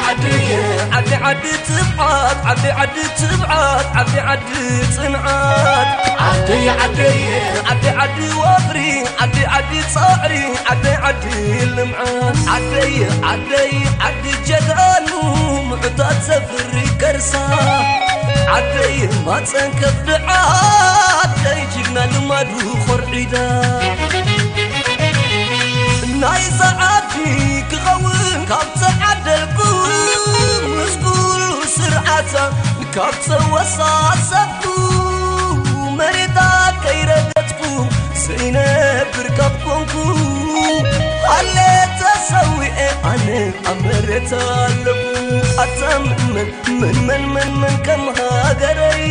ዓደየ ዓዲ ዓዲ ትብዓት ዓዲ ዓዲ ትብዓት ዓዲ ዓዲ ጽንዓት ዓደየ ዓደየ ዓዲ ዓዲ ወፍሪ ዓዲ ዓዲ ጻዕሪ ዓዲ ዓዲ ልምዓት ዓደየ ዓደይ ዓዲ ጀጋኑ ምዑታት ዘፍሪ ከርሳ ዓደይ ማጸን ከፍ ድዓ ዓደይ ጅግና ልማዱ ኾርዒዳ ናይዛ ዓዲ ክኸውን ካብ ተዓደልኩ ምስ ኩሉ ስርዓታ ካብ ተወሳሰብኩ መሬታ ከይረገጥኩ ዘይነብር ካብ ኮንኩ ኣለ ተሰዊኤ ኣነ ኣብ መሬታ ኣለኹ ኣታ ምን ምን ምን ምን ምን ከም ሃገረይ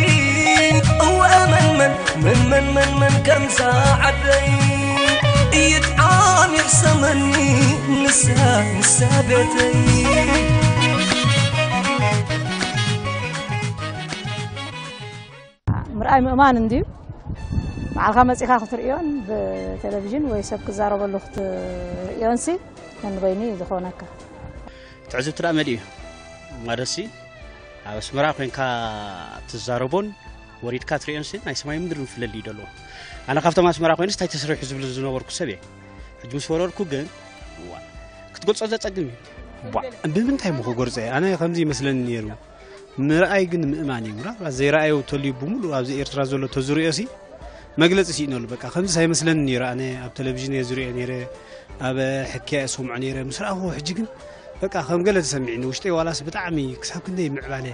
እወ ምን ምን ምን ምን ምን ምን ከምዛ ዓደይ ይጥዓም ይሕሰመኒ ንሳ ንሳ ቤተይ ምርኣይ ምእማን እንድዩ። ባዕልኻ መጺኻ ክትርእዮን ብቴሌቪዥን ወይ ሰብ ክዛረበሉ ክትርእዮን ሲ ነንበይኑ እዩ ዝኾነካ። ትዕዝብቲ ደኣ መሊኡ እዩ። ማለትሲ ኣብ ኣስመራ ኮይንካ ትዛረቦን ወሪድካ ትርእዮን ሲ ናይ ሰማይ ምድሪ ፍለል እዩ ደሎ። ኣነ ካብቶም ኣስመራ ኮይንስ እንታይ ተሰሪሑ ዝብል ዝነበርኩ ሰብ እየ። ሕጂ ምስ ወረድኩ ግን ዋ ክትገልጾ ዘጸግም እዩ። ቧ ብምንታይ እሞ ክጎርጸ እየ? ኣነ ከምዚ ይመስለኒ ነይሩ። ምርኣይ ግን ምእማን እዩ። ምናልባት ዘይረኣዮ ተልዩ ብምሉእ ኣብዚ ኤርትራ ዘሎ ተዝርእዮ ሲ መግለጺ ስኢነሉ። በቃ ከምዚ ኣይመስለኒ ነይሩ። ኣነ ኣብ ቴሌቪዥን እየ ዝርእዮ ነይረ፣ ኣብ ሕክያ እየ ዝሰምዖ ነይረ። ምስ ረኣኹዎ ሕጂ ግን በቃ ከም ገለ ተሰሚዕኒ። ውሽጠይ ዋላስ ብጣዕሚ ክሳብ ክንደይ ምዕባለ፣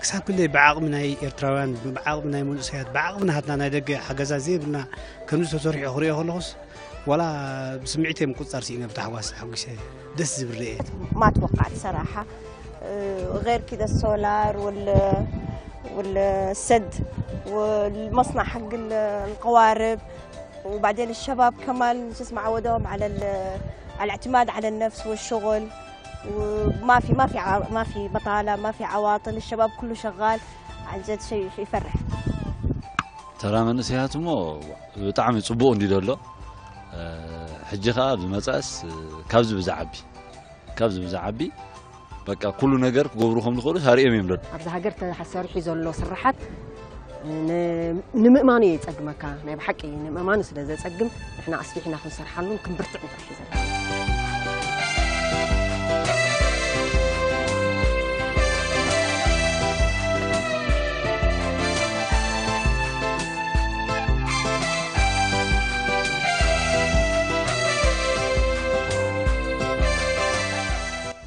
ክሳብ ክንደይ ብዓቕሚ ናይ ኤርትራውያን፣ ብዓቕሚ ናይ መንእሰያት፣ ብዓቕሚ ናትና ናይ ደገ ሓገዛት ዘይብልና ከምዚ ተሰሪሑ ክርእዮ ከለኹስ ዋላ ብስምዒት እየ ምቁጽጻር ስኢነ ብታሕጓስ ተሓጒሰ። ደስ ዝብል ርእየት። ما توقعت صراحة. آه، غير كده السولار وال والسد والمصنع حق ال- القوارب. وبعدين الشباب كمان شو اسمه عودوهم على ال- على الاعتماد على النفس والشغل. وما في ما في ع- ما في بطالة، ما في عواطل، الشباب كله شغال. عن جد شيء شيء يفرح. ተራ መንእሰያት እሞ ብጣዕሚ ጽቡቕ እንዲ ዘሎ። ሕጂ ኸኣ ብመጻእስ ካብዚ ብዝዓቢ ካብዚ ብዝዓቢ በቃ ኩሉ ነገር ክገብሩ ከም ዝኽእሉ ኣርእዮም እዮም ደሎ። ኣብዚ ሃገር ተሰሪሑ ዘሎ ስራሓት ን- ንምእማኑ እዩ የፀግመካ። ናይ ብሓቂ ንምእማኑ ስለ ዘፀግም ንሕና ኣስፊሕና ክንሰርሓሉን ክንብርትዕ ንኽእል ዘለና።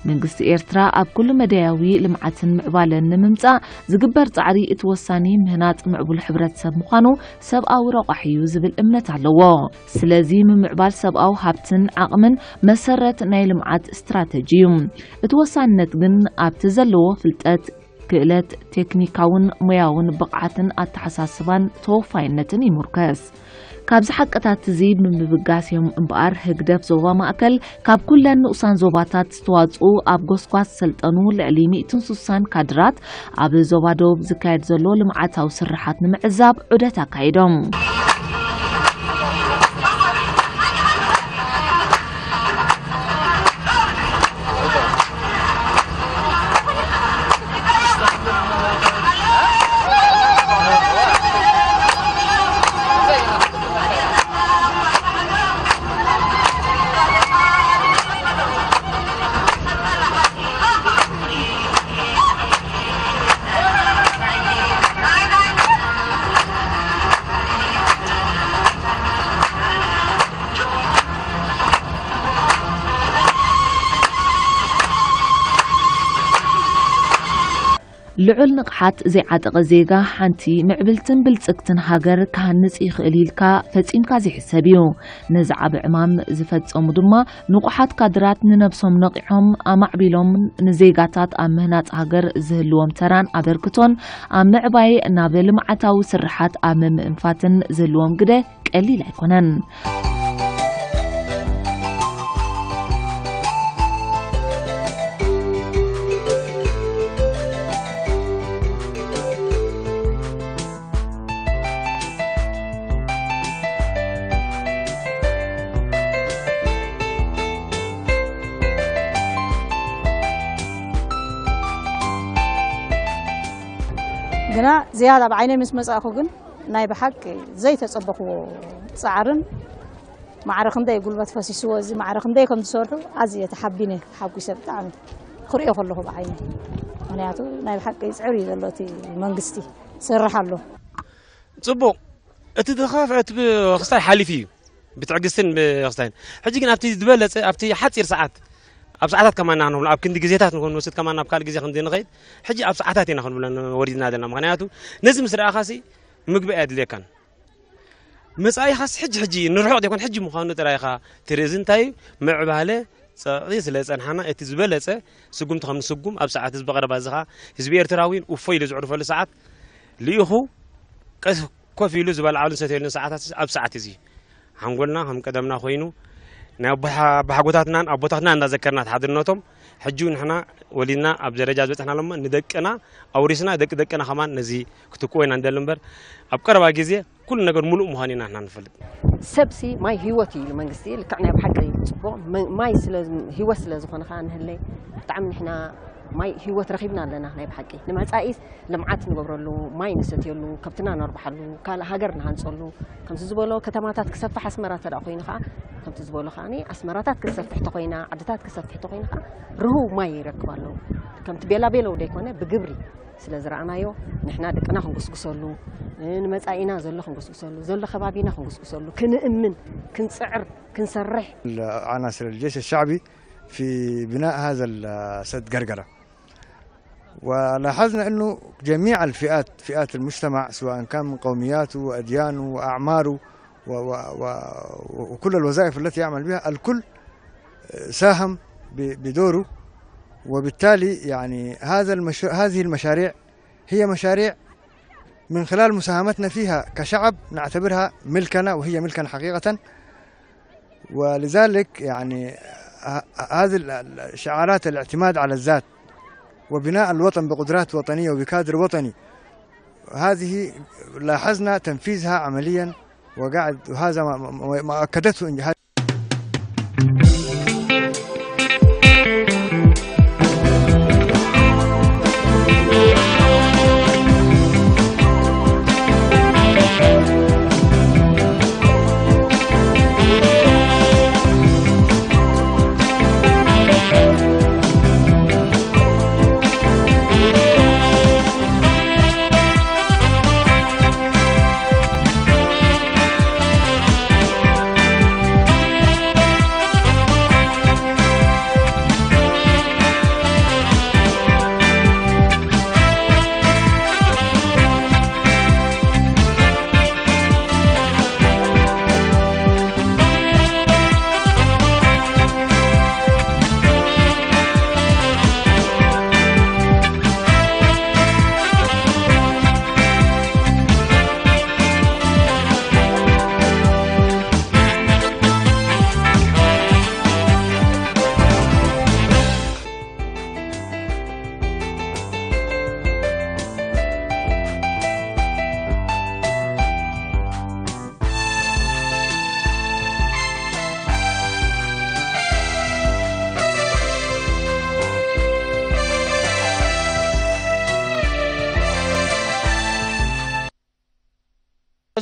መንግስቲ ኤርትራ ኣብ ኩሉ መዳያዊ ልምዓትን ምዕባለን ንምምጻእ ዝግበር ጻዕሪ እቲ ወሳኒ ምህናጽ ምዕቡል ሕብረተሰብ ምዃኑ ሰብኣዊ ረቋሒ እዩ ዝብል እምነት ኣለዎ። ስለዚ ምምዕባል ሰብኣዊ ሃብትን ዓቕምን መሰረት ናይ ልምዓት ስትራተጂ እዩ። እቲ ወሳንነት ግን ኣብቲ ዘለዎ ፍልጠት፣ ክእለት፣ ቴክኒካውን ሞያውን ብቕዓትን ኣተሓሳስባን ተወፋይነትን ይሙርከስ። ካብዚ ሓቅታት እዚ ብምብጋስ እዮም እምበኣር ህግደፍ ዞባ ማእከል ካብ ኩለን ንኡሳን ዞባታት ዝተዋጽኡ ኣብ ጎስጓስ ዝሰልጠኑ ልዕሊ ሚእትን ስሳን ካድራት ኣብ ዞባ ደቡብ ዝካየድ ዘሎ ልምዓታዊ ስርሓት ንምዕዛብ ዑደት ኣካይዶም። ልዑል ንቕሓት ዘይዓጠቐ ዜጋ ሓንቲ ምዕብልትን ብልጽግትን ሃገር ክሃንጽ ይኽእል ኢልካ ፈጺምካ ዘይሕሰብ እዩ። ነዚ ዓቢ ዕማም ዝፈጸሙ ድማ ንቑሓት ካድራት ንነብሶም ነቒሖም ኣማዕቢሎምን ንዜጋታት ኣብ ምህናጽ ሃገር ዝህልዎም ተራን ኣበርክቶን ኣብ ምዕባይ ናብ ልምዓታዊ ስርሓት ኣብ ምምእንፋትን ዝህልዎም ግደ ቀሊል ኣይኮነን። ግና ዝያዳ ብዓይነይ ምስ መጻእኩ ግን ናይ ብሓቂ ዘይተጸበኽዎ ጻዕርን ማዕረ ክንደይ ጉልበት ፈሲስዎ፣ እዚ ማዕረ ክንደይ ከም ዝሰርሑ ኣዝየ ተሓቢነ ተሓጒሰ ብጣዕሚ ክርእዮ ከለኹ ብዓይነይ። ምኽንያቱ ናይ ብሓቂ ይጽዕር እዩ ዘሎ እቲ መንግስቲ፣ ይሰርሕ ኣሎ። ጽቡቕ፣ እቲ ዝኸፍአ እቲ ክስታይ ሓሊፉ እዩ፣ ብትዕግስትን ብክስታይን። ሕጂ ግን ኣብቲ ዝበለጸ፣ ኣብቲ ሓጺር ሰዓት፣ ኣብ ሰዓታት ከማና ክንብሎ፣ ኣብ ክንዲ ግዜታት ንክንወስድ ከማና ኣብ ካልእ ግዜ ክንዲ ንኸይድ፣ ሕጂ ኣብ ሰዓታት ኢና ክንብሎ ወሪድና ዘለና። ምኽንያቱ ነዚ ምስ ረኣኻሲ ምግቢ ኣየድልየካን። መጻኢኻስ ሕጂ ሕጂ ንርሑቕ ዘይኮን ሕጂ ምዃኑ ጥራይ ኢኻ ትርኢ። እዚ እንታይ እዩ? ምዕባለ ጸቕጢ ስለ ዝጸንሓና፣ እቲ ዝበለጸ ስጉምቲ ከም ንስጉም ኣብ ሰዓት እዚ ብቐረባ እዚ ኸኣ ህዝቢ ኤርትራዊ እውን እፎይ ኢሉ ዝዕርፈሉ ሰዓት ልኢኹ ቀስ ኮፍ ኢሉ ዝበልዓሉን ሰትየሉን ሰዓታት ኣብ ሰዓት እዚ ሓንጎልና ከም ቀደምና ኮይኑ ናይ ኣቦሓ-፣ ኣቦሓጎታትናን ኣቦታትናን እናዘከርና እቲ ሓድነቶም ሕጂ እውን ንሕና ወሊድና ኣብ ደረጃ ዝበጽሕናሎሞ ንደቅና ኣውሪስና ደቂ ደቅና ከማን ነዚ ክትክዎ ኢና ንደሊ እምበር ኣብ ቀረባ ግዜ ኩሉ ነገር ሙሉእ ምዃኑ ኢና ንሕና ንፈልጥ። ሰብሲ ማይ ህይወት እዩ ኢሉ መንግስቲ፣ ልክዕ ናይ ብሓቂ ጽቡቕ። መ-፣ ማይ ስለ፣ ህይወት ስለ ዝኾነ ኸኣ ንህለይ ብጣዕሚ ንሕና ማይ ህይወት ረኺብና ኣለና። ናይ ብሓቂ ንመጻኢስ ልምዓት ንገብረሉ፣ ማይ ንሰትየሉ፣ ከብትና ነርብሓሉ፣ ካልእ ሃገር ንሃንጸሉ፣ ከምዚ ዝበሎ ከተማታት ክሰፍሕ ኣስመራ እንተ ደኣ ኮይኑ ኸኣ፣ ከምቲ ዝበሎ ኸኣኒ ኣስመራታት ክትሰፍሕ ተኾይና፣ ዓድታት ክሰፍሕ ተኾይኑ ኸኣ ርሁው ማይ ይረክብ ኣሎ። ከምቲ ቤላ ቤለው ደይኮነ ብግብሪ ስለ ዝረኣናዮ፣ ንሕና ደቅና ክንጉስጉሰሉ፣ ንመጻኢና ዘሎ ክንጉስጉሰሉ፣ ዘሎ ከባቢና ክንጉስጉሰሉ፣ ክንእምን፣ ክንጽዕር፣ ክንሰርሕ። عناصر الجيش الشعبي في بناء هذا السد قرقرة. ولاحظنا أنه جميع الفئات، فئات المجتمع، سواء كان من قومياته وأديانه وأعماره و-، و-، و-، وكل الوظائف التي يعمل بها، الكل ساهم ب-، بدوره. وبالتالي يعني هذا المشروع، هذه المشاريع هي مشاريع من خلال مساهمتنا فيها كشعب نعتبرها ملكنا، وهي ملكنا حقيقة. ولذلك يعني ه-، هذه ال-، ال-، شعارات الاعتماد على الذات وبناء الوطن بقدرات وطنية وبكادر وطني، هذه لاحظنا تنفيذها عمليًا، وقاعد، وهذا ما، ما، ما أكدته إن-،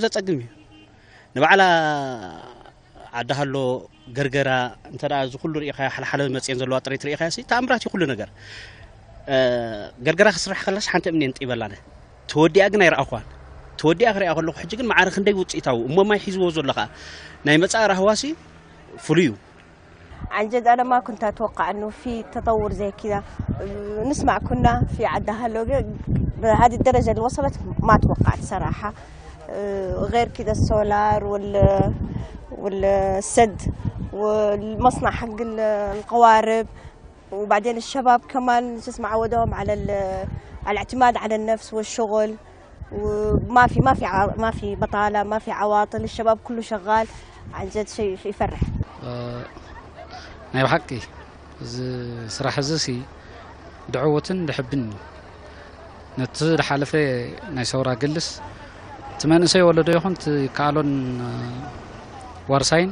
ዘጸግም እዩ። ንባዕላ ዓዲ ሃሎ፣ ገርገራ፣ እንተ ደኣ እዚ ኩሉ ርኢኻዮ፣ ሓልሓለ መጽየን ዘለዋ ጥሪት ርኢኻዮ፣ ሲ ተኣምራት እዩ ኩሉ ነገር። እ፣ ገርገራ ክስራሕ ከላስ ሓንቲ እምኒ የንጢበላነ። ተወዲኣ ግን ኣይረኣኹዋን። ተወዲኣ ክሪኣ ከለኹ፣ ሕጂ ግን ማዕረ ክንደይ ውጽኢታዊ እሞ ማይ ሒዝዎ ዘሎ ኸኣ። ናይ መጻኢ ራህዋሲ ፍሉይ እዩ። عن جد أنا ما كنت أتوقع إنه في تطور زي كذا. نسمع كنا في عدها لوجا بهذه الدرجة اللي وصلت، ما توقعت صراحة. غير كذا السولار وال-، والسد والمصنع حق ال-، القوارب. وبعدين الشباب كمان شو اسمه عودوهم على ال-، على الاعتماد على النفس والشغل. وما في، ما في ع-، ما في بطالة، ما في عواطل، الشباب كله شغال. عن جد شيء، شيء يفرح. እ፣ ናይ ብሓቂ እዚ ስራሕ እዚ ሲ ድዕውትን ድሕብን እዩ። ነቲ ዝሓለፈ ናይ ሰውራ ገልስ እቲ መንእሰይ ወለዶ ይኹን እቲ ከኣሎን፣ እ፣ ዋርሳይን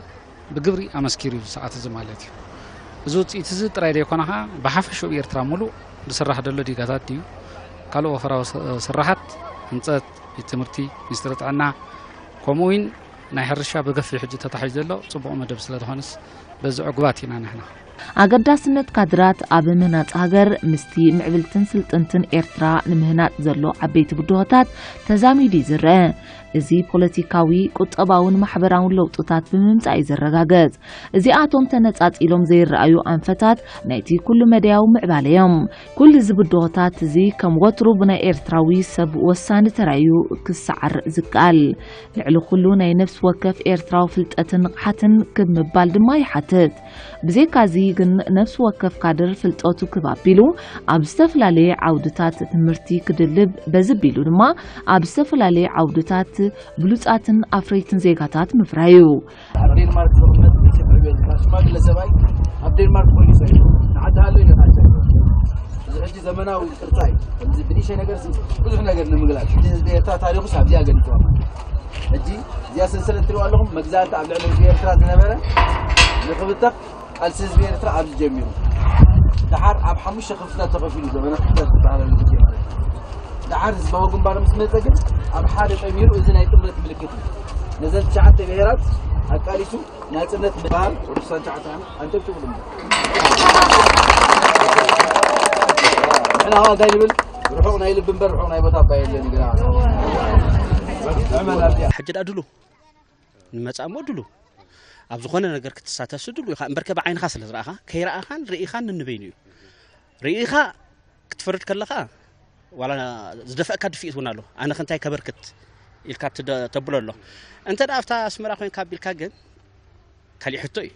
ብግብሪ ኣመስኪሩ እዩ፣ ሰዓት እዚ ማለት እዩ። እዚ ውፅኢት እዚ ጥራይ ዘይኮነ ከዓ ብሓፈሽኡ ብኤርትራ ሙሉእ ዝስራሕ ዘሎ ዲጋታት ድዩ ካልእ ወፈራዊ ስ-፣ ስራሓት ህንፀት ቤት ትምህርቲ፣ ሚኒስትሪ ጥዕና፣ ከምኡ እውን ናይ ሕርሻ ብገፊሕ ሕጂ ተታሒዙ ዘሎ ፅቡቕ መደብ ስለ ዝኾነስ በዚ ዕጉባት ኢና ንሕና። ኣገዳስነት ካድራት ኣብ ምህናጽ ሃገር ምስቲ ምዕብልትን ስልጥንትን ኤርትራ ንምህናጽ ዘሎ ዓበይቲ ብድሆታት ተዛሚዱ እዩ ዝረአ። እዚ ፖለቲካዊ፣ ቁጠባውን ማሕበራውን ለውጥታት ብምምጻእ እዩ ዝረጋገጽ። እዚኣቶም ተነጻጺሎም ዘይረኣዩ ኣንፈታት ናይቲ ኩሉ መደያዊ ምዕባለ እዮም። ኩሉ እዚ ብድሆታት እዚ ከም ወትሩ ብናይ ኤርትራዊ ሰብ ወሳኒ ተራዩ ክሰዓር ዝከኣል። ልዕሊ ኩሉ ናይ ነፍሲ ወከፍ ኤርትራዊ ፍልጠትን ንቕሓትን ክብ ምባል ድማ ይሓትት። ብዘይካዚ ግን ነፍሲ ወከፍ ካድር ፍልጠቱ ክብ ኣቢሉ ኣብ ዝተፈላለየ ዓውድታት ትምህርቲ ክድልብ፣ በዚ ቢሉ ድማ ኣብ ዝተፈላለየ ዓውድታት ብሉጻትን ኣፍረይትን ዜጋታት ምፍራዩ። ኣብ ዴንማርክ ዝቕመጥ ኢትዮጵያዊ ዝበሃል ሽማግለ ሰብኣይ ኣብ ዴንማርክ ኮይኑ ሰሪሑ ንዓዲ ሃሎ እዩ። እዚ ሕጂ ዘመናዊ ቅርጻ እዩ። ከምዚ ብንእሽተይ ነገር ሲ ብዙሕ ነገር ንምግላጽ። ሕጂ ህዝቢ ኤርትራ ታሪኹስ ኣብዚኣ ገሊጽዋ ማለት እዩ። ሕጂ እዚኣ ሰንሰለት ትሪእዋ ኣለኹም። መግዛእቲ ኣብ ልዕሊ ህዝቢ ኤርትራ ዝነበረ ንኽብተኽ ቃልሲ ህዝቢ ኤርትራ ኣብዚ ጀሚሩ። ደሓር ኣብ ሓሙሽተ ክፍልታት ተኸፊሉ ዘመነ ክፍልታት ዝበሃለሉ ግዜ ማለት እዩ። ደሓር ህዝባዊ ግንባር ምስ መጸ ግን ኣብ ሓደ ጠሚሩ፣ እዚ ናይ ጥምረት ምልክት እዩ። ነዘን ትሽዓተ ብሄራት ኣቃሊሱ ናጽነት ምባል ቅዱሳን ቻዕታና ኣንጨብጭቡ ድማ። ንሕና ኸኣ እንታይ ንብል? ርሑቕ ናይ ልቢ እምበር ርሑቕ ናይ ቦታ እባ የለን። ግና ሕጂ ደኣ ድሉ ንመጻእ እሞ ድሉ ኣብ ዝኾነ ነገር ክትሳተፍሲ ድሉ ኢኻ። እምበርከ ብዓይንኻ ስለ ዝረኣኻ፣ ከይረኣኻን ርኢኻን ንንበይኑ እዩ። ርኢኻ ክትፈርድ ከለኻ ዋላ ዝደፍአካ ድፍኢት እውን ኣሎ። ኣነ ከ እንታይ ከበርክት ኢልካ ትደ- ተብሎ ኣሎ። እንተ ደኣ ኣብታ ኣስመራ ኮይንካ ኣቢልካ ግን ካሊእ ሕቶ እዩ።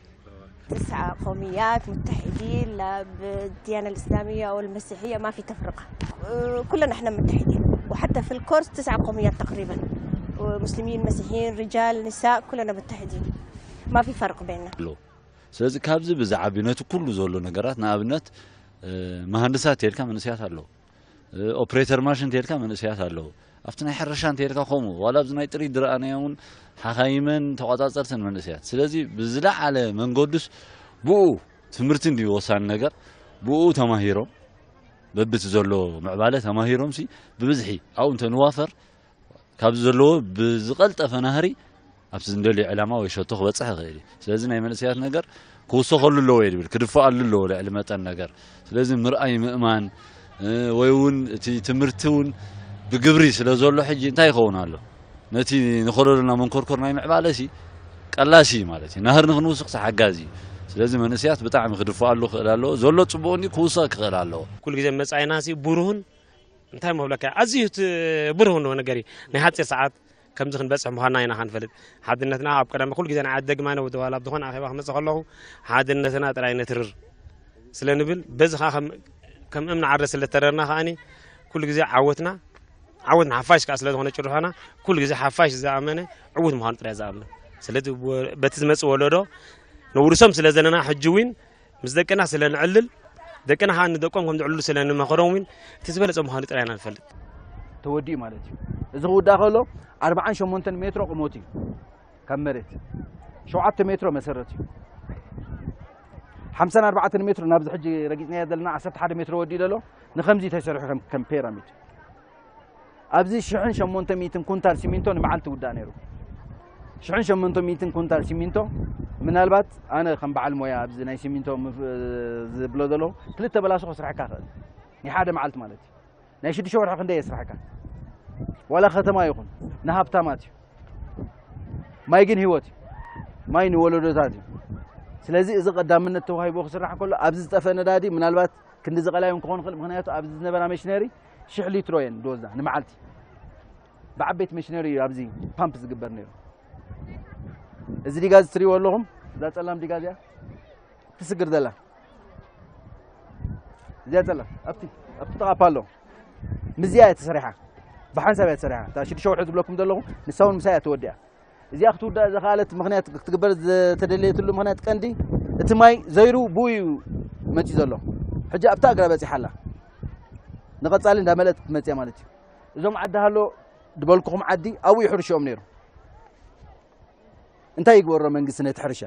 تسع قوميات متحدين، لا بالديانة الإسلامية أو المسيحية، ما في تفرقة. كلنا احنا متحدين، وحتى في الكورس تسع قوميات تقريبا، مسلمين، مسيحيين، رجال، نساء، كلنا متحدين، ما في فرق بيننا. ስለዚ ካብዚ ብዝዓቢ ነቲ ኩሉ ዘሎ ነገራት፣ ንኣብነት መሃንድሳት ተልካ መንእሰያት ኣለዉ፣ ኦፕሬተር ማሽን ተልካ መንእሰያት ኣለዉ፣ ኣብቲ ናይ ሕርሻ እንተልካ ከምኡ፣ ዋላ ኣብዚ ናይ ጥሪት ዝረኣናዮ እውን ሓኻይመን ተቋጻጸርትን መንእሰያት። ስለዚ ብዝለዓለ መንገዱስ ብኡ ትምህርቲ እንድዩ ወሳኒ ነገር፣ ብኡ ተማሂሮም በብቲ ዘሎ ምዕባለ ተማሂሮም ሲ ብብዝሒ ኣብኡ እንተንዋፈር ካብዚ ዘለዎ ብዝቐልጠፈ ናህሪ ኣብቲ ዝንደልዮ ዕላማ ወይ ሸቶ ክበፅሕ ይኽእል እዩ። ስለዚ ናይ መንእሰያት ነገር ክውሰኸሉ ኣለዎ እየ ዝብል፣ ክድፈኣሉ ኣለዎ ልዕሊ መጠን ነገር። ስለዚ ምርኣይ ምእማን ወይ እውን እቲ ትምህርቲ እውን ብግብሪ ስለ ዘሎ ሕጂ እንታይ ይኸውን ኣሎ? ነቲ ንኸለሉና መንኮርኮር ናይ ምዕባለ ሲ ቀላሲ ማለት እዩ። ናህሪ ንክንውስኽ ሓጋዚ እዩ። ስለዚ መንእሰያት ብጣዕሚ ክድፈኣሉ ክኽእል ኣለዎ። ዘሎ ፅቡቕ እንዲ ክውሰኽ ክኽእል ኣለዎ። ኩሉ ግዜ መፃኢና ሲ ብሩህን እንታይ መብለካ ኣዝዩ እቲ ብሩህ እንሆ ነገር እዩ። ናይ ሓፂር ሰዓት ከምዚ ክንበፅሕ ምዃንና ኢና ክንፈልጥ። ሓድነትና ኣብ ቀዳሚ ኩሉ ግዜ ንዓይ ኣደግማነ ወደዋላ ኣብ ዝኾነ ኣኼባ ክመፅእ ከለኹ ሓድነትና ጥራይ ነትርር ስለ ንብል፣ በዚ ከዓ ከም እምኒ ዓረ ስለ ተረርና ከዓኒ ኩሉ ግዜ ዓወትና ዓወት ንሓፋሽ ከዓ ስለ ዝኾነ ጭርሖና ኩሉ ግዜ ሓፋሽ ዝኣመነ ዕዉት ምዃኑ ጥራይ ዝኣምን። ስለዚ በቲ ዝመፅእ ወለዶ ነውርሶም ስለ ዘለና ሕጂ እውን ምስ ደቅና ስለ ንዕልል፣ ደቅና ከዓ ንደቆም ከም ዝዕልሉ ስለ ንመኸሮም እውን እቲ ዝበለፀ ምዃኑ ጥራይ ኢና ንፈልጥ። ተወዲኡ ማለት እዩ። እዚ ክውዳእ ከሎ ኣርብዓን ሸሞንተን ሜትሮ ቁመቱ እዩ ካብ መሬት፣ ሸውዓተ ሜትሮ መሰረቱ እዩ። ሓምሳን ኣርባዕተን ሜትሮ ናብዚ ሕጂ ረጊጽናዮ ዘለና ዓሰርተ ሓደ ሜትሮ ወዲኡ ዘሎ ንከምዚ ተሰሪሑ ከም ከም ፒራሚድ። ኣብዚ ሽሕን ሸሞንተ ሚእትን ኩንታል ሲሚንቶ ንመዓልቲ ውዳእ ነይሩ። ሽሕን ሸሞንተ ሚእትን ኩንታል ሲሚንቶ ምናልባት ኣነ ከም በዓል ሞያ ኣብዚ ናይ ሲሚንቶ ምፍ- ዝብሎ ዘለኹ ክልተ በላሶ ከስርሐካ ይኽእል። ናይ ሓደ መዓልቲ ማለት እዩ። ናይ ሽዱሽተ ወርሒ ክንደይ የስርሐካ? ዋላ ከተማ ይኹን ንሃብታማት እዩ። ማይ ግን ህይወት እዩ። ማይ ንወለዶታት እዩ። ስለዚ እዚ ቀዳምነት ተዋሂቦ ክስራሕ ከሎ ኣብዚ ዝጠፈ ነዳዲ ምናልባት ክንዲ ዝቐላዮም ክኾን ይኽእል። ምክንያቱ ኣብዚ ዝነበራ መሽነሪ ሽሕ ሊትሮ እየን ዝወስዳ ንመዓልቲ። ብዓበይቲ መሽነሪ እዩ ኣብዚ ፓምፕ ዝግበር ነይሩ። እዚ ዲጋዝ ትሪእዎ ኣለኹም፣ እዛ ጸላም ዲጋዝ እያ ትስግር ዘላ። እዚኣ ጸላም ኣብቲ ኣብቲ ጥቓ ፓሎ ምስዚኣ እያ ተሰሪሓ፣ ብሓንሳብ እያ ተሰሪሓ። እታ ሽዱሽተ ወርሒ ዝብለኩም ዘለኹ ንሳ እውን ምሳይ እያ ተወዲኣ። እዚኣ ክትውዳእ ዘኽኣለት ምኽንያት ክትግበር ዝተደለየትሉ ምኽንያት ቀንዲ እቲ ማይ ዘይሩ ብኡ እዩ መፂኡ ዘሎ። ሕጂ ኣብታ እግራ በፂሓ ኣላ። ንቐፃሊ እንዳመለእት ክትመፅእ እያ ማለት እዩ። እዞም ዓዲ ሃሎ ዝበልኩኹም ዓዲ ኣብኡ ይሕርሽኦም ነይሩ። እንታይ ይግበሮ መንግስቲ ነቲ ሕርሻ?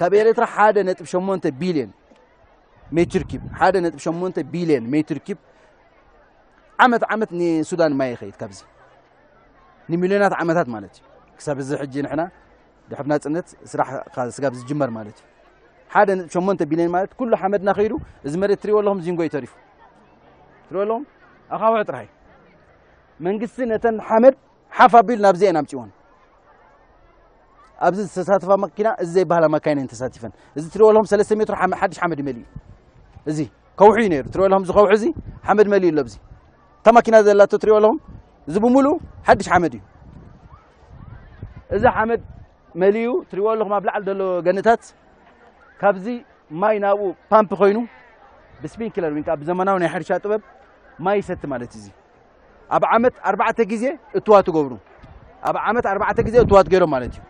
ካብ ኤርትራ ሓደ ነጥቢ ሸሞንተ ቢልዮን ሜትር ኪብ፣ ሓደ ነጥቢ ሸሞንተ ቢልዮን ሜትር ኪብ ዓመት ዓመት ንሱዳን ማይ ይኸይድ ካብዚ ንሚልዮናት ዓመታት ማለት እዩ። ክሳብ እዚ ሕጂ ንሕና ድሕሪ ናጽነት ስራሕ ካብ ስጋብ ዝጅመር ማለት እዩ። ሓደ ነጥቢ ሸሞንተ ቢልዮን ማለት ኩሉ ሓመድና ከይዱ፣ እዚ መሬት ትሪእዎ ኣለኹም ዚንጎ እዩ ተሪፉ። ትሪእዎ ኣለኹም ኣኻውሕ ጥራይ። መንግስቲ ነተን ሓመድ ሓፍ ኣቢሉ ናብዚ እየን ኣምጺወን። ኣብዚ ዝተሳተፋ መኪና እዚ ዘይበሃላ መካይን እየን ተሳቲፈን። እዚ ትሪእዎ ኣለኹም ሰለስተ ሜትሮ ሓመ-፣ ሓድሽ ሓመድ እዩ መሊኡ። እዚ ከውሒ እዩ ነይሩ። ትሪእዎ ኣለኹም እዚ ከውሒ እዚ ሓመድ መሊኡ ኣሎ። ኣብዚ እታ ማኪና ዘላቶ ትሪእዎ ኣለኹም እዚ ብምሉእ ሓድሽ ሓመድ እዩ። እዚ ሓመድ መሊኡ ትሪእዎ ኣለኹም ኣብ ላዕሊ ዘሎ ገንታት ካብዚ ማይ ናብኡ ፓምፕ ኮይኑ ብስፕሪንክለር ወይ ከዓ ብዘመናዊ ናይ ሕርሻ ጥበብ ማይ ይሰቲ ማለት እዩ። እዚ ኣብ ዓመት ኣርባዕተ ግዜ እትዋ ትገብሩ። ኣብ ዓመት ኣርባዕተ ግዜ እትዋት ገይሮም ማለት እዩ።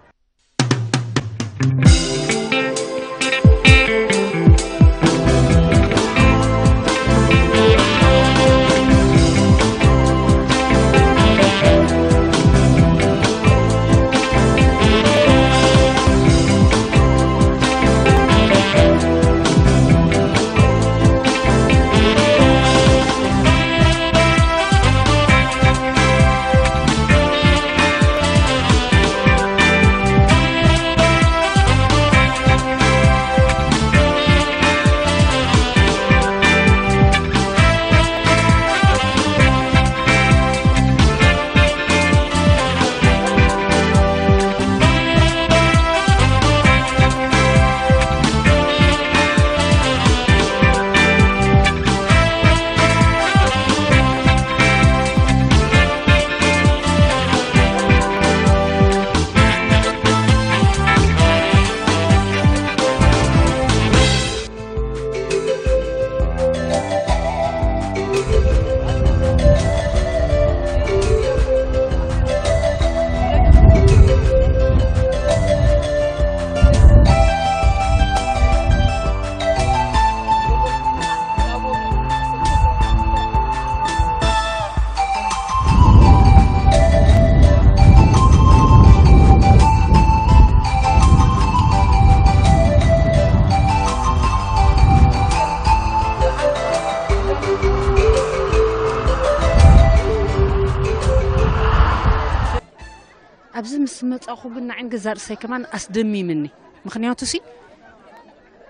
ኣብዚ ምስ መጻኹ ግን ንዓይን ገዛ ርእሰይ ከማን ኣስደሚምኒ። ምኽንያቱ ሲ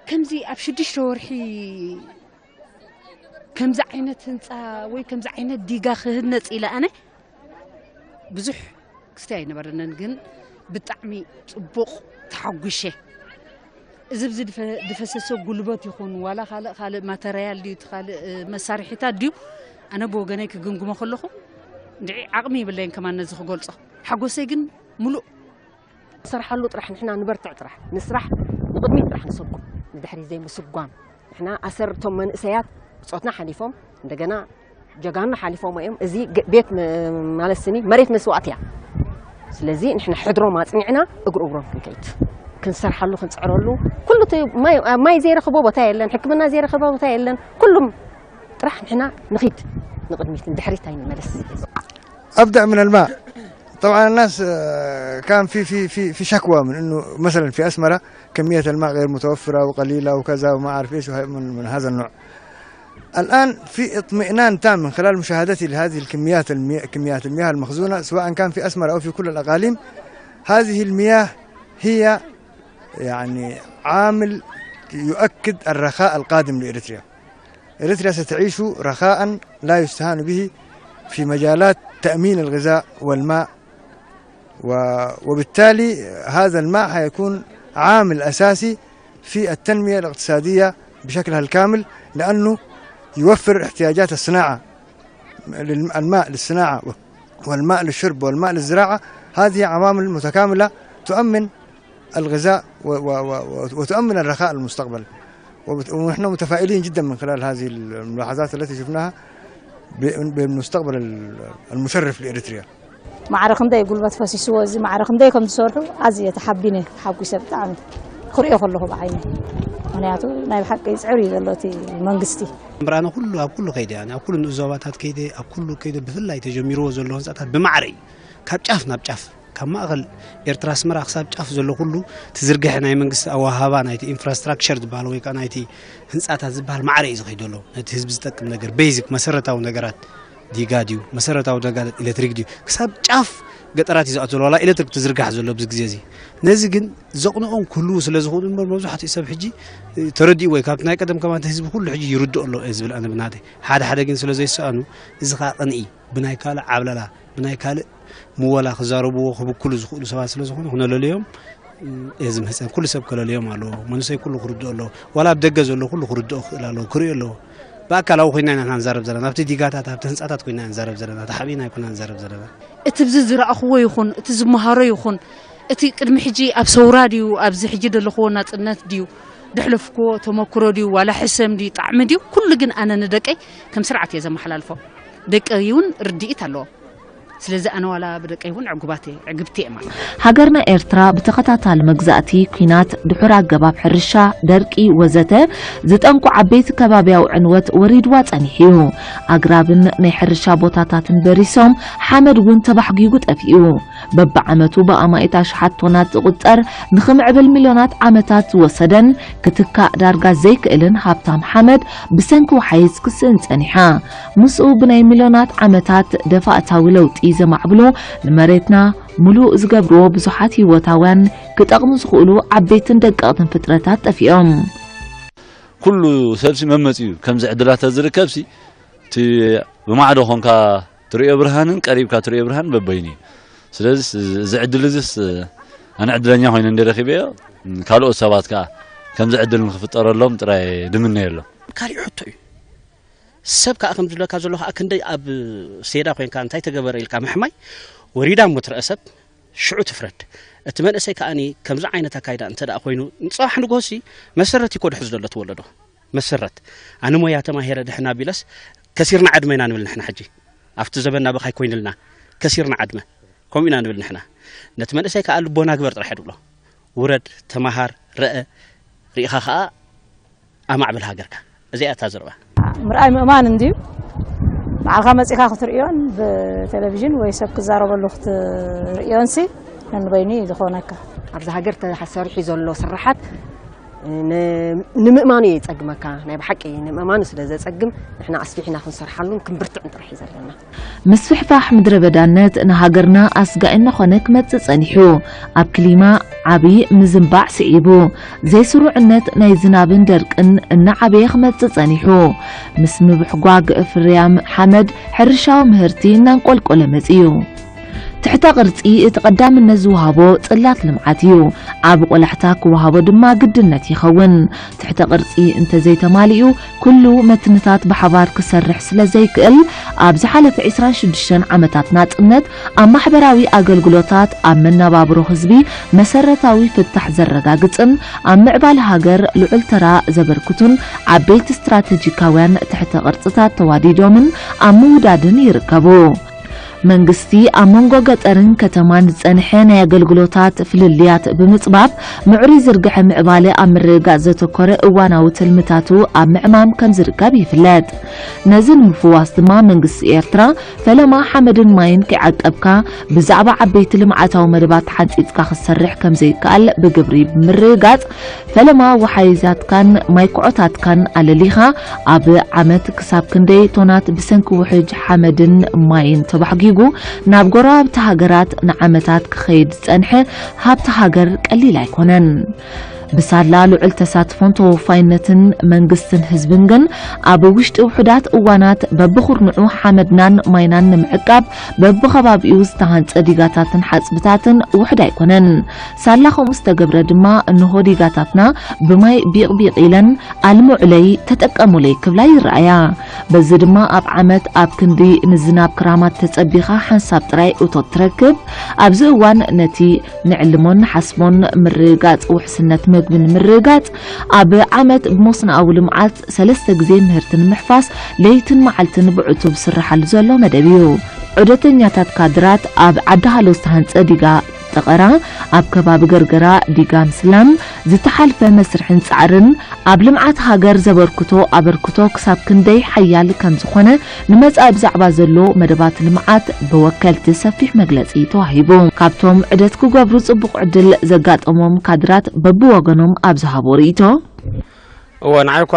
ከምዚ ኣብ ሽዱሽተ ወርሒ ከምዚ ዓይነት ህንጻ ወይ ከምዚ ዓይነት ዲጋ ክህነጽ ኢለ ኣነ ብዙሕ ክስታይ ኣይነበረንን፣ ግን ብጣዕሚ ጽቡቕ ተሓጒሸ። እዚ ኣብዚ ድፈ-፣ ድፈሰሰ ጉልበት ይኹን ዋላ ካልእ ካልእ ማተርያል ድዩ፣ እቲ ካልእ፣ እ፣ መሳርሒታት ድዩ፣ ኣነ ብወገነይ ክግምግሞ ከለኹ እንድዒ ዓቕሚ የብለይን ከማን ነዚ ክገልጾ። ሓጎሰይ ግን ምሉእ። ንሰርሓሉ ጥራሕ ንሕና ንበርትዕ ጥራሕ ንስራሕ ንቕድሚት ጥራሕ ንሰጉም ንድሕሪት ዘይምስጓም። ንሕና ኣሰር እቶም መንእሰያት ብጾትና ሓሊፎም እንደገና ጀጋኑ ሓሊፎም እዮም። እዚ ግ-፣ ቤት ም-፣ ማለት ስኒ መሬት መስዋእቲ እያ። ስለዚ ንሕና ሕድሮም ኣጽኒዕና እግሪ እግሮም ክንከይድ ክንሰርሓሉ ክንጽዕረሉ ኩሉ እቲ ማይ፣ ማይ ዘይረኽቦ ቦታ የለን፣ ሕክምና ዘይረኽቦ ቦታ የለን። ኩሉም ጥራሕ ንሕና ንኺድ ንቕድሚት ንድሕሪት ኣይንመለስ። أبدأ من الماء. طبعا الناس آه، كان في في في في شكوى من انه مثلا في اسمره كميه الماء غير متوفره وقليله وكذا وما اعرف ايش وه- من من هذا النوع. الان في اطمئنان تام من خلال مشاهدتي لهذه الكميات المي... كميات المياه المخزونه سواء كان في اسمره او في كل الاقاليم. هذه المياه هي يعني عامل يؤكد الرخاء القادم لاريتريا. إريتريا ستعيش رخاء لا يستهان به في مجالات تأمين الغذاء والماء و- وبالتالي هذا الماء حيكون عامل أساسي في التنمية الاقتصادية بشكلها الكامل لأنه يوفر احتياجات الصناعة للم- الماء للصناعة والماء للشرب والماء للزراعة. هذه عوامل متكاملة تؤمن الغذاء و- و- و- وتؤمن الرخاء للمستقبل. وبت- ونحن متفائلين جدا من خلال هذه الملاحظات التي شفناها ب- بالمستقبل ال- المشرف لإريتريا. ማዕረ ክንደይ ጉልበት ፈሲስዎ እዚ ማዕረ ክንደይ ከም ዝሰርሑ ኣዝየ ተሓቢነ ሓጒሰ ብጣዕሚ ክሪኦ ከለኹ ብዓይነ። ምክንያቱ ናይ ብሓቂ ይፅዕር እዩ ዘሎ እቲ መንግስቲ። ምራነ ኩሉ ኣብ ኩሉ ከይደ፣ ኣብ ኩሉ ንኡስ ዞባታት ከይደ፣ ኣብ ኩሉ ከይደ፣ ብፍላይ ተጀሚርዎ ዘሎ ህንፃታት ብማዕረ እዩ። ካብ ጫፍ ናብ ጫፍ ካብ ማእኸል ኤርትራ ኣስመራ ክሳብ ጫፍ ዘሎ ኩሉ ትዝርግሐ ናይ መንግስቲ ኣወሃባ ናይቲ ኢንፍራስትራክቸር ዝበሃል ወይ ከዓ ናይቲ ህንፃታት ዝበሃል ማዕረ እዩ ዝኸይድ ዘሎ። ነቲ ህዝቢ ዝጠቅም ነገር ቤዚክ መሰረታዊ ነገራት ዲጋ ድዩ፣ መሰረታዊ ደጋ ኤሌክትሪክ ድዩ፣ ክሳብ ጫፍ ገጠራት እዩ ዝኣትወሉ ዋላ ኤሌክትሪክ ትዝርጋሕ ዘሎ ኣብዚ ግዜ እዚ። ነዚ ግን ዘቕንኦም ክህልዉ ስለ ዝኽእሉ እምበር፣ መብዛሕትኡ ሰብ ሕጂ ተረዲኡ ወይ ካብቲ ናይ ቀደም ከማን ህዝቢ ኩሉ ሕጂ ይርድኦ ኣሎ እየ ዝብል ኣነ ብናተይ። ሓደ ሓደ ግን ስለ ዘይሰኣኑ፣ እዚ ኸኣ ቅንኢ ብናይ ካልእ ዓብለላ፣ ብናይ ካልእ ምወላ ክዛረብዎ ክብክሉ ዝኽእሉ ሰባት ስለ ዝኾኑ ክነለልዮም እየ ዝምህጸን። ኩሉ ሰብ ከለልዮም ኣለዎ። መንእሰይ ኩሉ ክርድኦ ኣለዎ። ዋላ ኣብ ደገ ዘሎ ኩሉ ክርድኦ ክኽእል ኣለዎ፣ ክርእዮ ኣለዎ። ብኣካላዊ ኮይና ኢና ንዛረብ ዘለና፣ ኣብቲ ዲጋታት፣ ኣብቲ ህንጻታት ኮይና ንዛረብ ዘለና፣ ተሓቢእና ኣይኮና ንዛረብ ዘለና። እቲ ብዚ ዝረኣኽዎ ይኹን እቲ ዝመሃሮ ይኹን እቲ ቅድሚ ሕጂ ኣብ ሰውራ ድዩ ኣብዚ ሕጂ ዘለኽዎ ናጽነት ድዩ ደሕለፍክዎ ተመክሮ ድዩ ዋላ ሕሰም ድዩ ጣዕሚ ድዩ ኩሉ ግን ኣነ ንደቀይ ከም ስርዓት እየ ዘመሓላልፎ። ደቀይ እውን ርድኢት ኣለዎ። ስለዚ ኣነ ዋላ ብደቀይ እውን ዕጉባት እየ፣ ዕግብቲ እየ ማለት። ሃገርና ኤርትራ ብተኸታታሊ መግዛእቲ፣ ኲናት፣ ድሑር ኣገባብ ሕርሻ፣ ደርቂ ወዘተ ዝጠንቁ ዓበይቲ ከባብያዊ ዕንወት ወሪድዋ ጸኒሑ እዩ። ኣግራብን ናይ ሕርሻ ቦታታትን በሪሶም፣ ሓመድ እውን ተባሕጒጉ ጠፊኡ። በብዓመቱ ብኣማኢት ኣሽሓት ቶናት ዝቑጸር ንኽምዕብል ሚልዮናት ዓመታት ዝወሰደን ክትካእ ዳርጋ ዘይክእልን ሃብታም ሓመድ ብሰንኪ ወሓይዝ ክስእን ጸኒሓ። ምስኡ ብናይ ሚልዮናት ዓመታት ደፋእታዊ ለውጢ ዘማዕብሉ ንመሬትና ምሉእ ዝገብርዎ ብዙሓት ህይወታውያን ክጠቕሙ ዝኽእሉ ዓበይትን ደቀቕትን ፍጥረታት ጠፊኦም። ኩሉ ሰብሲ መመፂኡ ከምዚ ዕድላት ዝርከብሲ እቲ ብማዕዶ ኮንካ ትሪኦ ብርሃንን ቀሪብካ ትሪኦ ብርሃን በበይኑ እዩ። ስለዚ እዚ ዕድል እዚስ ኣነ ዕድለኛ ኮይነ እንደ ረኺበዮ ካልኦት ሰባት ከዓ ከምዚ ዕድል ንክፍጠረሎም ጥራይ ድምነየሎም። ካሊእ ሕቶ እዩ። ሰብ ከዓ ከም ዝብለካ ዘሎ ከዓ ክንደይ ኣብ ሴዳ ኮይንካ እንታይ ተገበረ ኢልካ ምሕማይ ወሪዳ እሞ ትረአ ሰብ ሽዑ ትፍረድ። እቲ መንእሰይ ከዓኒ ከምዚ ዓይነት ኣካይዳ እንተ ደኣ ኮይኑ ንፅባሕ ንግሆሲ መሰረት እዩ ኮድሕዝ ዘሎ እቲ ወለዶ። መሰረት ኣነ ሞያ ተማሂረ ድሕን ኣቢለስ ከሲርና ዕድመ ኢና ንብል ንሕና ሕጂ ኣብቲ ዘበና ብኻይ ኮይንልና ከሲርና ዕድመ ከምኡ ኢና ንብል ንሕና። ነቲ መንእሰይ ከዓ ልቦና ግበር ጥራሕ ድብሎ። ውረድ ተማሃር ረአ ርኢኻ ከዓ ኣማዕብል ሃገርካ። እዚኣ እታ ዘረባ። ምርኣይ ምእማን እንድዩ። ንዓኻ መጺኻ ክትርእዮን ብቴሌቪዥን ወይ ሰብ ክዛረበሉ ክትርእዮንሲ ነንበይኑ እዩ ዝኾነካ። ኣብዚ ሃገር ተሰሪሑ ዘሎ ስራሓት ንምእማኑ እዩ የፀግመካ። ናይ ብሓቂ ንምእማኑ ስለ ዘፀግም ንሕና ኣስፊሕና ክንሰርሓሉን ክንብርትዕን ጥራሕ እዩ ዘለና። ምስፍሕፋሕ ምድረ በዳነት ንሃገርና ኣስጋኢ እናኾነ ክመጽእ ጸኒሑ። ኣብ ክሊማ ዓቢ ምዝንባዕ ስዒቡ፣ ዘይስሩዕነት ናይ ዝናብን ደርቅን እናዓበየ ክመጽእ ጸኒሑ። ምስ ምብሕጓግ ፍርያም ሓመድ ሕርሻዊ ምህርቲ እናንቆልቆለ መጺኡ። ትሕተ ቅርጺ እቲ ቀዳምነት ዝወሃቦ ጽላት ልምዓት እዩ። ዓቢ ቆላሕታ ክወሃቦ ድማ ግድነት ይኸውን። ትሕተ ቅርጺ እንተዘይተማሊኡ ኩሉ መትንታት ብሓባር ክሰርሕ ስለ ዘይክእል፣ ኣብ ዝሓለፈ ዕስራን ሽዱሽተን ዓመታት ናጽነት፣ ኣብ ማሕበራዊ ኣገልግሎታት፣ ኣብ መነባብሮ ህዝቢ መሰረታዊ ፍታሕ ዘረጋግጽን ኣብ ምዕባለ ሃገር ልዑል ተራ ዘበርክቱን ዓበይቲ ስትራተጂካውያን ትሕተ ቅርጽታት ተዋዲዶምን ኣብ ምውዳድን ይርከቡ። መንግስቲ ኣብ መንጎ ገጠርን ከተማን ዝጸንሐ ናይ ኣገልግሎታት ፍልልያት ብምጽባብ፣ ምዕሩይ ዝርግሐ ምዕባለ ኣብ ምርግጋጽ ዘተኮረ እዋናዊ ትልምታቱ ኣብ ምዕማም ከም ዝርከብ ይፍለጥ። ነዚ ንምፍዋስ ድማ መንግስቲ ኤርትራ ፈለማ ሓመድን ማይን ከይዓቀብካ ብዛዕባ ዓበይቲ ልምዓታዊ መደባት ሓንጺጽካ ክትሰርሕ ከም ዘይከኣል ብግብሪ ብምርግጋጽ፣ ፈለማ ወሓይዛትካን ማይ ኩዖታትካን ኣለሊኻ፣ ኣብ ዓመት ክሳብ ክንደይ ቶናት ብሰንኪ ውሕጅ ሓመድን ማይን ተባሕጒጉ ናብ ጎረባብቲ ሃገራት ንዓመታት ክኸይድ ዝጸንሐ ሃብቲ ሃገር ቀሊል ኣይኮነን። ብሳላ ልዑል ተሳትፎን ተወፋይነትን መንግስትን ህዝብን ግን፣ ኣብ ውሽጢ ውሑዳት እዋናት በብኹርንዑ ሓመድናን ማይናን ንምዕቃብ በብኸባቢኡ ዝተሃንጸ ዲጋታትን ሓጽብታትን ውሑድ ኣይኮነን። ሳላ ከምኡ ዝተገብረ ድማ፣ እንሆ ዲጋታትና ብማይ ቢቕቢቕ ኢለን፣ ኣልምዑለይ፣ ተጠቀሙለይ ክብላ ይረኣያ። በዚ ድማ ኣብ ዓመት ኣብ ክንዲ ንዝናብ ክራማት ተጸቢኻ ሓንሳብ ጥራይ እቶት ትረክብ። ኣብዚ እዋን ነቲ ንዕልሞን ንሓስቦን ምርግጋጽ ውሕስነት መግቢ ንምርግጋጽ፣ ኣብ ዓመት ብመስኖኣዊ ልምዓት ሰለስተ ግዜ ምህርቲ ንምሕፋስ ለይትን መዓልትን ብዕቱብ ዝስርሓሉ ዘሎ መደብ እዩ። ዑደተኛታት ካድራት ኣብ ዓዲ ሃሎ ዝተሃንጸ ዲጋ ጠቐራ፣ ኣብ ከባቢ ገርገራ ዲጋ ምስላም፣ ዝተሓልፈ መስርሕን ጻዕርን፣ ኣብ ልምዓት ሃገር ዘበርክቶ ኣበርክቶ ክሳብ ክንደይ ሓያል ከም ዝኾነ ንመጻኢ ብዛዕባ ዘሎ መደባት ልምዓት ብወከልቲ ሰፊሕ መግለጺ ተዋሂቡ። ካብቶም ዑደት ክገብሩ ጽቡቕ ዕድል ዘጋጠሞም ካድራት በብወገኖም ኣብ ዝሃቦ ርእይቶ፣ እወ ንዓይ እኳ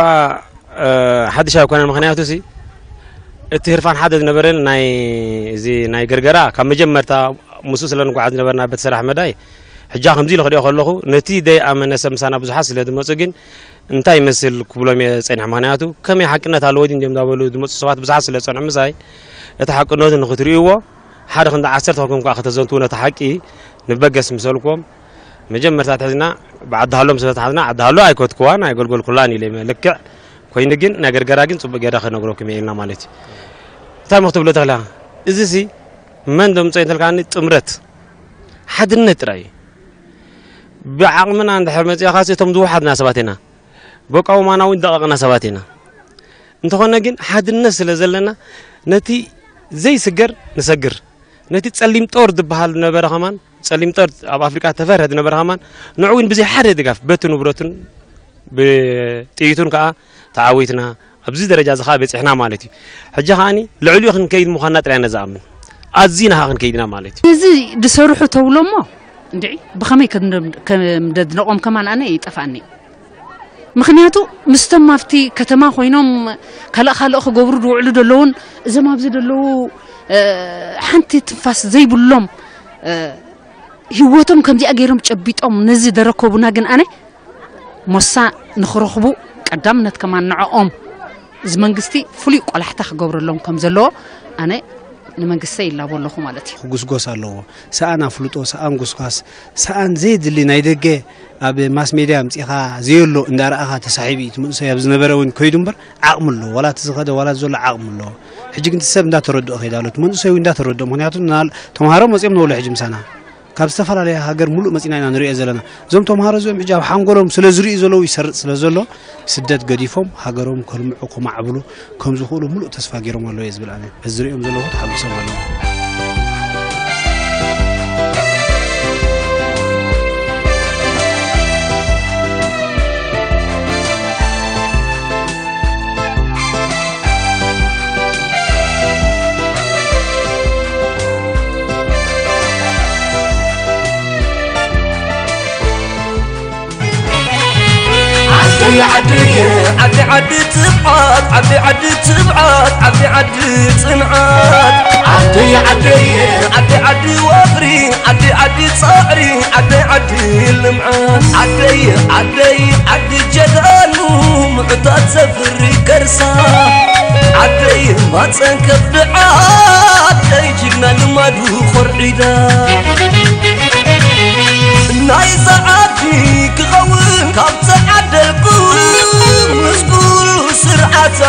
ሓድሽ ኣይኮነን፣ ምኽንያቱ ሲ እቲ ህርፋን ሓደ ዝነበረን ናይ፣ እዚ ናይ ገርገራ ካብ መጀመርታ ምስኡ ስለ ንጓዓዝ ዝነበርና በቲ ስራሕ መዳይ፣ ሕጃ ከምዚ ኢሉ ክሪኦ ከለኹ፣ ነቲ ደይኣመነ ሰብ ምሳና ብዙሓት ስለ ዝመጹ ግን እንታይ ይመስል ክብሎም እየ ጸኒሐ። ምኽንያቱ ከመይ ሓቅነት ኣለዎ ድዩ እንዲዮም እንዳበሉ ዝመጹ ሰባት ብዙሓት ስለ ዝጸንሑ ምሳይ፣ እቲ ሓቅነቱ ንኽትርእይዎ ሓደ ክንዲ ዓሰርተ ኮንኩም ከኣ ከተዘንትዉ ነቲ ሓቂ ንበገስ ምሰልኩም መጀመርታ ትሕዝና ብዓዲ ሃሎም ስለ ተሓዝና ዓዲ ሃሎ ኣይኮትክዋን ኣይገልገልኩላን ኢለ እየ። ልክዕ ኮይኑ ግን ናይ ገርገራ ግን ጽቡቅ ገይረ ክነግረኩም እየ ኢልና ማለት እዩ። እንታይ ምኽትብሎ ተኽላ እዚ ሲ መን ደምጾ እንተልካኒ ጥምረት ሓድነት ጥራይ እዩ። ብዓቕምና እንድሕር መጺእኻሲ እቶም ዝወሓድና ሰባት ኢና። በቃ ውማና እውን ደቐቕና ሰባት ኢና። እንተኾነ ግን ሓድነት ስለ ዘለና ነቲ ዘይስገር ንሰግር። ነቲ ጸሊም ጦር ዝበሃል ዝነበረ ከማን፣ ጸሊም ጦር ኣብ ኣፍሪቃ ተፈርሀ ዝነበረ ከማን፣ ንዑ እውን ብዘይ ሓደ ድጋፍ በቲ ንብረቱን ብጥይቱን ከኣ ተዓዊትና ኣብዚ ደረጃ እዚ ከኣ በጺሕና ማለት እዩ። ሕጂ ከኣኒ ልዕሊኡ ክንከይድ ምዃንና ጥራይ ኢና ዝኣምን። ኣዚና ከኣ ክንከይድ ኢና ማለት እዩ። እዚ ዝሰርሑ ተብሎ እሞ እንድዒ ብኸመይ ከም ከም ደድንቖም ከማን ኣነ ይጠፍኣኒ። ምኽንያቱ ምስቶም ኣብቲ ከተማ ኮይኖም ካልእ ካልእ ክገብሩ ዝውዕሉ ዘለውን እዞም ኣብዚ ዘለዉ ሓንቲ ትንፋስ ዘይብሎም ህይወቶም ከምዚኣ ገይሮም ጨቢጦም ነዚ ደረከቡና ግን ኣነ ሞሳ ንኽረኽቡ ቀዳምነት ከማን ንዕኦም እዚ መንግስቲ ፍሉይ ቆላሕታ ክገብረሎም ከም ዘለዎ ኣነ ንመንግስተይ ይላቦ ኣለኹ ማለት እዩ። ክጉስጎስ ኣለዎ። ሰኣን ኣፍልጦ፣ ሰኣን ጉስጓስ፣ ሰኣን ዘየድሊ ናይ ደገ ኣብ ማስ ሜድያ ኣምጺኻ ዘየሎ እንዳረኣኻ ተሳሒቡ እዩ። እቲ መንእሰይ ኣብ ዝነበረ እውን ከይዱ እምበር ዓቕሚ ኣለዎ። ዋላ እቲ ዝኸደ ዋላ ዘሎ ዓቕሚ ኣለዎ። ሕጂ ግን እቲ ሰብ እንዳተረድኦ ከይዳ ኣሎ። እቲ መንእሰይ እውን እንዳተረድኦ። ምኽንያቱ ናል-፣ ተምሃሮ መጺኦም ነብሎ ሕጂ ምሳና። ካብ ዝተፈላለየ ሃገር ሙሉእ መጺና ኢና ንሪኦ ዘለና። እዞም ተምሃሮ እዚኦም ሕጂ ኣብ ሓንጎሎም ስለ ዝርእዩ ዘለዉ ይሰርጽ ስለ ዘሎ ስደት ገዲፎም ሃገሮም ከልምዑ ከማዕብሉ ከም ዝኽእሉ ሙሉእ ተስፋ ገይሮም ኣለዉ እየ ዝብል ኣነ። በዚ ዝርእዮም ዘለኹ ተሓጒሶም ኣለዉ። ዓደይ ዓደይ ዓዲ ዓዲ ትብዓት ዓዲ ዓዲ ትብዓት ዓዲ ዓዲ ጽንዓት ዓደይ ዓደይ ዓዲ ዓዲ ወፍሪ ዓዲ ዓዲ ጻዕሪ ዓደይ ዓዲ ልምዓት ዓደይ ዓደይ ዓዲ ጀጋኑ ምዕታት ዘፍሪ ከርሳ ዓደይ ማጸን ከብድዓ ዓደይ ጅግና ልማዱ ኾርዒዳ ናይዛ ዓዲ ክኸውን ካብ ተዓደልኩ ምስ ኩሉ ስርዓታ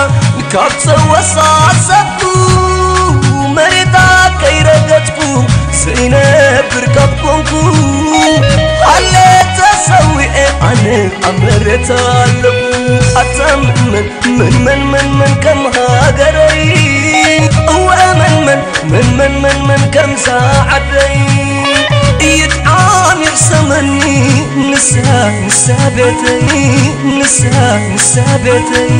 ካብ ተወሳሰብኩ መሬታ ከይረገጽኩ ዘይነብር ካብ ኮንኩ ሃለ ተሰዊኤ ኣነ ኣብ መሬታ ኣለኹ ኣታ መን መን መን መን መን ከም ሃገረይ እወ መን መን መን መን መን መን ከምዛ ዓደይ ይጥዓም ይርሰመኒ ንሳ ንሳ ቤተይ ንሳ ንሳ ቤተይ